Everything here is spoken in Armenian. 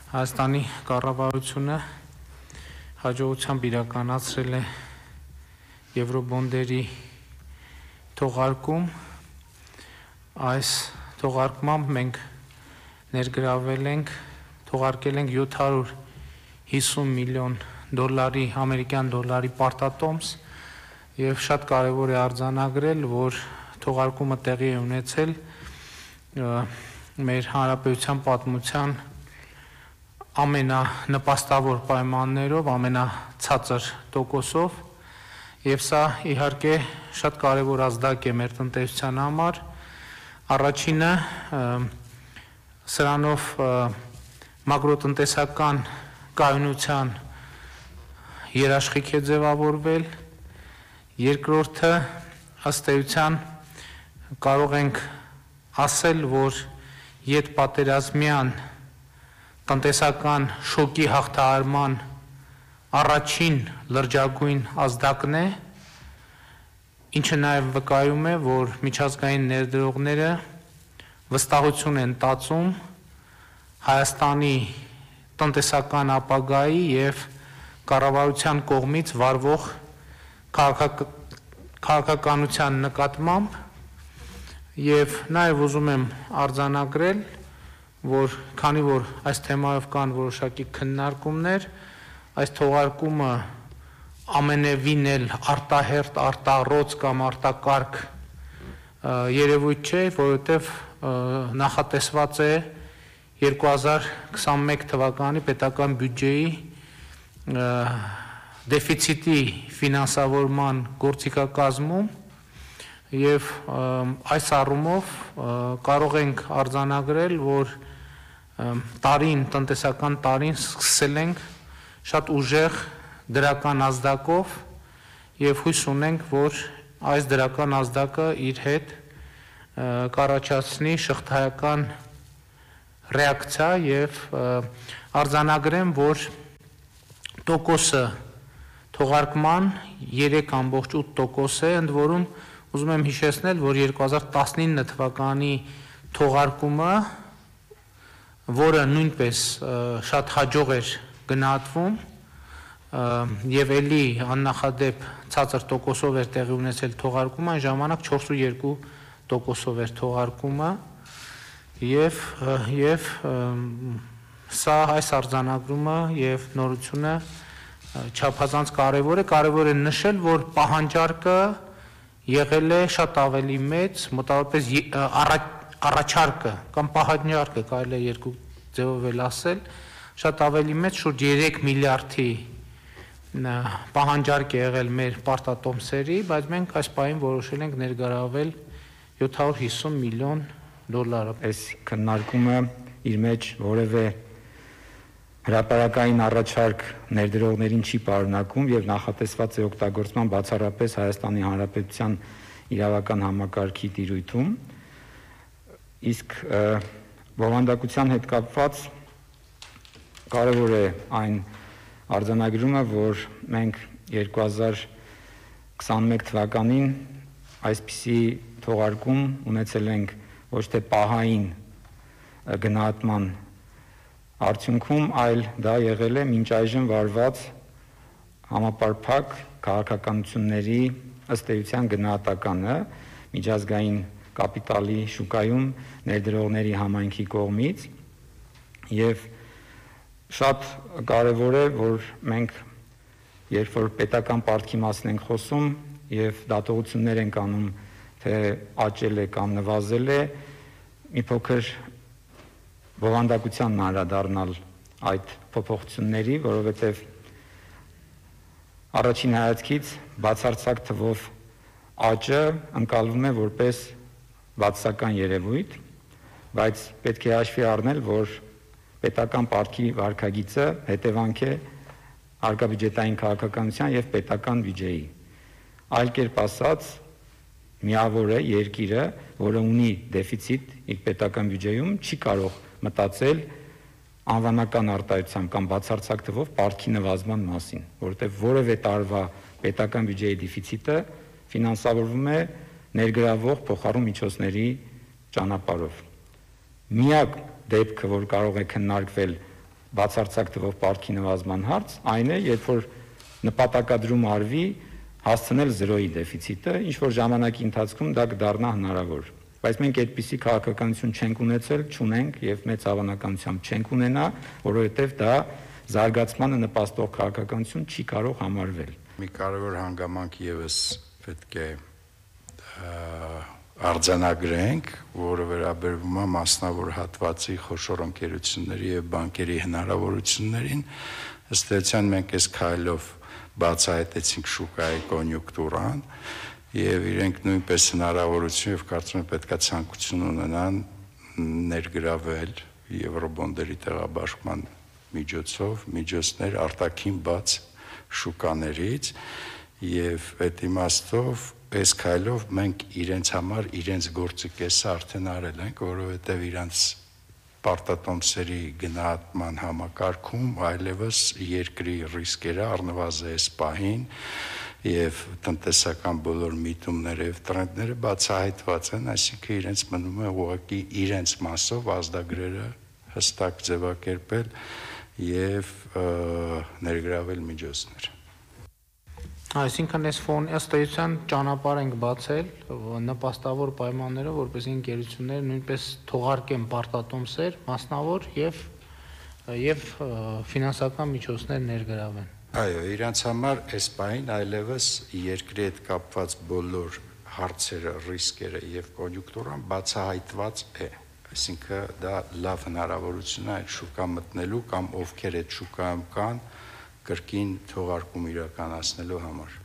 Հայաստանի կառավարությունը հաջողությամբ իրականացրել է եվրոբոնդերի թողարկում։ Այս թողարկմամբ մենք ներգրավել ենք, թողարկել ենք 750 միլիոն դոլարի, ամերիկյան դոլարի պարտատոմս եւ շատ կարեւոր է արձանագրել, որ թողարկումը տեղի է ունեցել մեր հանրապետության պատմության ամենանպաստավոր պայմաններով, ամենացածր տոկոսով եւ սա իհարկե շատ կարեւոր ազդակ է մեր տնտեսության համար։ Առաջինը սրանով մակրոտնտեսական կայունության երաշխիք է ձևավորվել, երկրորդը ըստ էության կարող ենք ասել, որ յետպատերազմյան տնտեսական շոկի հաղթահարման առաջին լրջագույն ազդակն է, ինչը նաև վկայում է, որ միջազգային ներդրողները վստահություն են տածում Հայաստանի տնտեսական ապագայի եւ կառավարության կողմից վարվող քաղաքականության նկատմամբ եւ նաև ուզում եմ արձանագրել, որ քանի որ այս թեմայով կան որոշակի քննարկումներ, այս թողարկումը ամենևին էլ արտահերտ, արտառոց կամ արտակարգ երևույթ չէ, որովհետև նախատեսված է 2021 թվականի պետական բյուջեի դեֆիցիտի ֆինանսավորման գործիքակազմում եւ այս առումով կարող ենք արձանագրել, որ տարին, տնտեսական տարին սկսել ենք շատ ուժեղ դրական ազդակով եւ հույս ունենք, որ այս դրական ազդակը իր հետ կառաջացնի շղթայական ռեակցիա եւ արձանագրեմ, որ տոկոսը թողարկման 3.8% է, ընդ որում ուզում եմ հիշեցնել, որ 2019 թվականի թողարկումը, որը նույնպես շատ հաջող էր գնահատվում եւ ելի աննախադեպ ցածր տոկոսով էր տեղի ունեցել թողարկումը, այն ժամանակ 4.2% էր թողարկումը եւ սա այս արձանագրումը եւ նորությունը չափազանց կարեւոր է նշել, որ պահանջարկը եղել է շատ ավելի մեծ, մոտավորապես առաջարկը կամ պահանջարկը կարելի է երկու ձևով էլ ասել, շատ ավելի մեծ, շուրջ 3 միլիարդի պահանջարկ է եղել մեր պարտատոմսերի, բայց մենք այս պահին որոշել ենք ներգրավել 750 միլիոն դոլարը։ Այս քննարկումը իր մեջ որևէ հրապարակային առաջարկ ներդրողներին չի պարունակում եւ նախատեսված է օգտագործման բացառապես Հայաստանի Հանրապետության իրավական համակարգի տիրույթում, իսկ բովանդակության հետ կապված կարևոր է այն արձանագրումը, որ մենք 2021 թվականին այսպիսի թողարկում ունեցել ենք ոչ թե պահային գնահատման արդյունքում, այլ դա եղել է մինչ այժմ վարված համապարփակ քաղաքականությունների ըստ էության գնահատականը միջազգային կապիտալի շուկայում ներդրողների համայնքի կողմից եւ շատ կարեւոր է, որ մենք երբ որ պետական պարտքի մասին ենք խոսում եւ դատողություններ ենք անում, թե աճել է կամ նվազել է, մի փոքր բովանդակության անդրադառնալ այդ փոփոխությունների, որովհետեւ առաջին հայացքից բացարձակ թվով աճը ընկալվում է որպես բացասական երևույթ, բայց պետք է հաշվի առնել, որ պետական պարտքի վարքագիծը հետևանք է հարկաբյուջետային քաղաքականության եւ պետական բյուջեի։ Այլ կերպ ասած, միավոր է երկիրը, որը ունի դեֆիցիտ իր պետական բյուջեում, չի կարող մտածել անվանական արտահայտությամբ կամ բացարձակ թվով պարտքի նվազման մասին, որովհետեւ որևէ տարվա պետական բյուջեի դեֆիցիտը ֆինանսավորվում է ներգրավող փոխառու միջոցների ճանապարհով։ Միակ դեպքը, որ կարող է քննարկվել բացարձակ թվով պարտքի նվազման հարց, այն է, երբ որ նպատակադրում արվի հասցնել 0-ի դեֆիցիտը, ինչ որ ժամանակի ընթացքում դա կդառնա հնարավոր։ Բայց մենք այդպիսի քաղաքականություն չենք ունեցել, չունենք եւ մեծ հավանականությամբ չենք ունենա, որովհետեւ դա զարգացմանը նպաստող քաղաքականություն չի կարող համարվել։ Մի կարևոր հանգամանք եւս պետք է արձանագրենք, որը վերաբերվում է մասնավոր հատվածի խոշոր ընկերությունների եւ բանկերի հնարավորություններին, ըստ էության մենք այս քայլով բացահայտեցինք շուկայի կոնյունկտուրան եւ իրենք նույնպես հնարավորություն եւ կարծում եմ պետքա ցանկություն ունենան ներգրավել եվրոբոնդերի տեղաբաշխման միջոցներ արտաքին բաց շուկաներից եւ այդ իմաստով այս քայլով մենք իրենց համար իրենց գործի կեսը արդեն արել ենք, որովհետեւ իրանց պարտատոմսերի գնահատման համակարգում այլևս երկրի ռիսկերը առնվազն այս պահին եւ տնտեսական բոլոր միտումները եւ տրենդները բացահայտված են, այսինքն իրենց մնում է ուղղակի իրենց մասով ազդագրերը հստակ ձևակերպել եւ ներգրավել միջոցներ։ Այսինքն այս ֆոնի ըստ էության ճանապարհ ենք բացել նպաստավոր պայմաններով, որպեսզի ընկերությունները նույնպես թողարկեն պարտատոմսեր մասնավոր եւ ֆինանսական միջոցներ ներգրավեն։ Այո, իրանց համար այս պահին այլևս երկրի հետ կապված բոլոր հարցերը, ռիսկերը եւ կոնյունկտուրան բացահայտված է։ Այսինքն դա լավ հնարավորություն է այդ շուկա մտնելու կամ ովքեր այդ շուկայում կան կրկին թողարկում իրականացնելու համար։